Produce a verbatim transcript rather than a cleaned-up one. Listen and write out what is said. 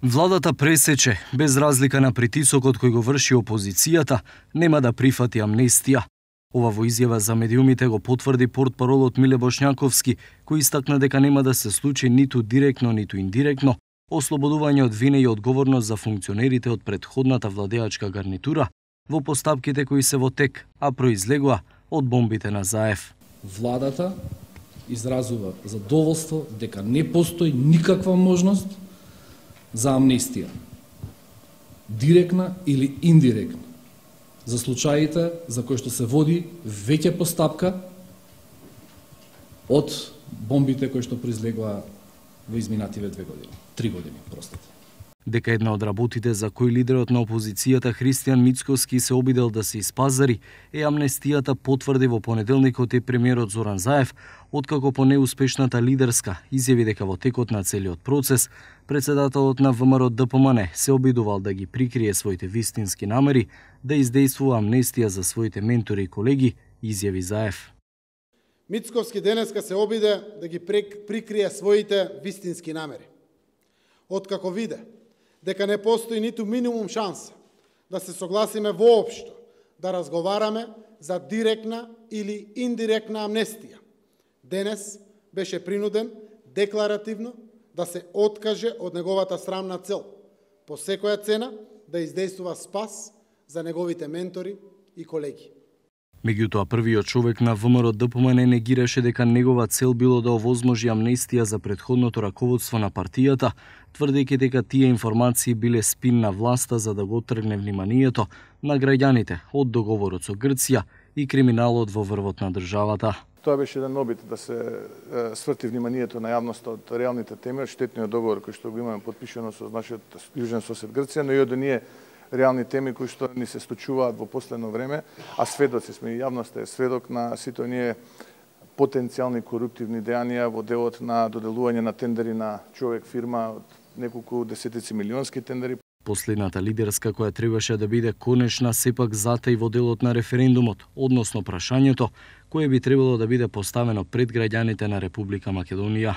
Владата пресече, без разлика на притисокот кој го врши опозицијата, нема да прифати амнестија. Ова во изјава за медиумите го потврди портпаролот Миле Бошњаковски, кој истакна дека нема да се случи ниту директно, ниту индиректно ослободување од вина и одговорност за функционерите од претходната владеачка гарнитура во постапките кои се во тек, а произлегува од бомбите на Заев. Владата изразува задоволство дека не постои никаква можност за амнестија, директна или индиректна, за случаите за кои што се води веќе постапка од бомбите кои што произлегува во изминативе две години, три години, простите. Дека една од работите за кои лидерот на опозицијата Христијан Мицкоски се обидел да се испазари е амнестијата, потврди во понеделникот и премиерот Зоран Заев, откако по неуспешната лидерска изјави дека во текот на целиот процес председателот на ВМРО-ДПМН се обидувал да ги прикрие своите вистински намери, да издействува амнестија за своите ментори и колеги, изјави Заев. Мицковски денеска се обиде да ги прикрие своите вистински намери. Откако виде дека не постои ниту минимум шанса да се согласиме воопшто да разговараме за директна или индиректна амнестија, денес беше принуден декларативно да се откаже од неговата срамна цел, по секоја цена да издействува спас за неговите ментори и колеги. Меѓутоа, првиот човек на ВМРО-ДПМН негираше дека негова цел било да овозможи амнестија за претходното раководство на партијата, тврдејќи дека тие информации биле спин на власта за да го тргне вниманието на граѓаните од договорот со Грција и криминалот во врвот на државата. Тоа беше еден обид да се сврти вниманието на јавноста од реалните теми, од штетниот договор кој што го имаме подпишано со нашиот јужен сосед Грција, но и од оние реални теми кои што ни се случуваат во последно време, а сведоци сме и јавноста е сведок на сите оние потенцијални коруптивни дејанија во делот на доделување на тендери на човек фирма од неколку десетици милионски тендери. Последната лидерска која требаше да биде конечна сепак затаи во делот на референдумот, односно прашањето кое би требало да биде поставено пред граѓаните на Република Македонија.